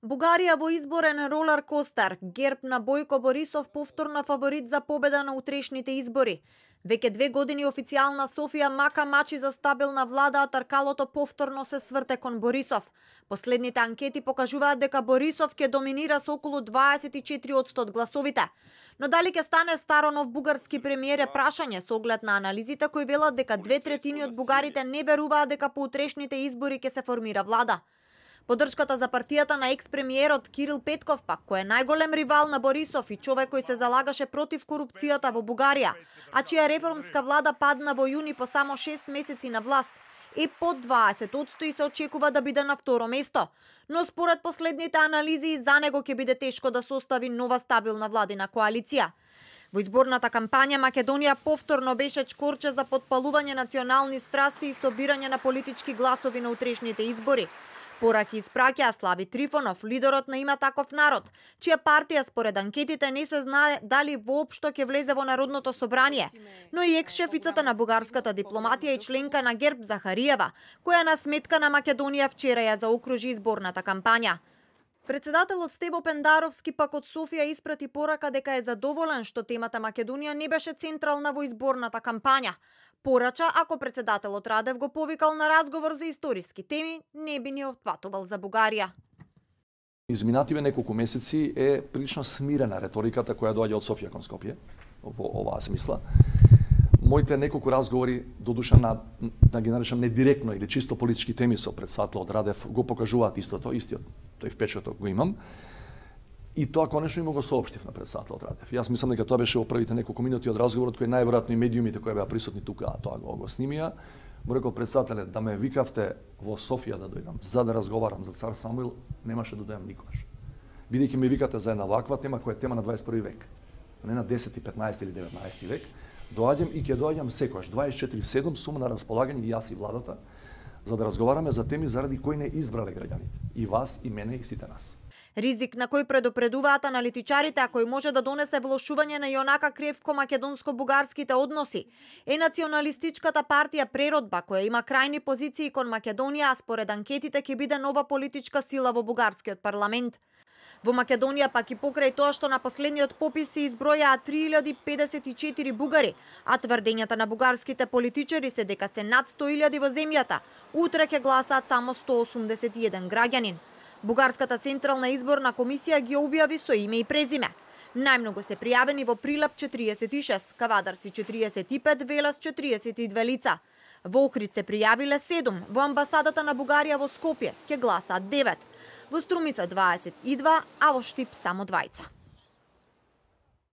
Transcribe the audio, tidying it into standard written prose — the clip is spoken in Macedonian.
Бугарија во изборен ролер костер, ГЕРБ на Бојко Борисов повторно фаворит за победа на утрешните избори. Веќе 2 години официјална Софија мака мачи за стабилна влада, а тркалото повторно се сврте кон Борисов. Последните анкети покажуваат дека Борисов ќе доминира со околу 24% од гласовите. Но дали ќе стане старо нов бугарски премиер е прашање со оглед на анализите кои велат дека 2/3 од бугарите не веруваат дека по утрешните избори ќе се формира влада. Поддршката за партијата на екс-премиерот Кирил Петков пак, кој е најголем ривал на Борисов и човек кој се залагаше против корупцијата во Бугарија, а чија реформска влада падна во јуни по само 6 месеци на власт, е под 20% и се очекува да биде на второ место. Но според последните анализи за него ќе биде тешко да состави нова стабилна владина коалиција. Во изборната кампања Македонија повторно беше чкорче за потпалување национални страсти и собирање на политички гласови на утрешните избори. Пораки испраќа Слави Трифонов, лидерот на Има таков народ, чија партија според анкетите не се знае дали воопшто ќе влезе во Народното собрание, но и екс-шефицата на бугарската дипломатија и членка на ГЕРБ Захариева, која на сметка на Македонија вчера ја заокружи изборната кампања. Председателот Стево Пендаровски пак од Софија испрати порака дека е задоволен што темата Македонија не беше централна во изборната кампања. Порача, ако председателот Радев го повикал на разговор за историски теми, не би ни отпатувал за Бугарија. Изминативе неколку месеци е прилично смирена реториката која доаѓа од Софија кон Скопје во оваа смисла. Моите неколку разговори, додуша да ги наречам не директно или чисто политички теми со председателот Радев, го покажуваат истото, истиот тој впечаток го имам. И тоа конечно им го соопштив на председателот Радев. Јас мислам дека тоа беше во првите неколку минути од разговорот кој најверојатно и медиумите кои беа присутни тука, а тоа го снимија. Му рекол председателе да ме викавте во Софија да дојдам за да разговарам за цар Самуил, немаше да дојдам никогаш. Бидејќи ме викате за една ваква тема која е тема на 21 век, не на 10, 15 или 19 век, доаѓам и ќе доаѓам секогаш 24/7 сум на располагање и јас и владата за да разговараме за теми заради кои не избрале граѓаните, и вас, и мене, и сите нас. Ризик на кој предупредуваат аналитичарите, а кој може да донесе влошување на јонака кревко македонско-бугарските односи, е националистичката партија Преродба, која има крајни позиции кон Македонија, а според анкетите ќе биде нова политичка сила во бугарскиот парламент. Во Македонија пак и покрај тоа што на последниот попис се избројаа 3054 бугари, а тврдењата на бугарските политичари се дека се над 100.000 во земјата, утре ќе гласаат само 181 граѓанин. Бугарската централна изборна комисија ги објави со име и презиме. Најмногу се пријавени во Прилеп 46, Кавадарци 45, Велес 42 лица. Во Охрид се пријавиле 7, во амбасадата на Бугарија во Скопје ќе гласаат 9, во Струмица 22, а во Штип само 2.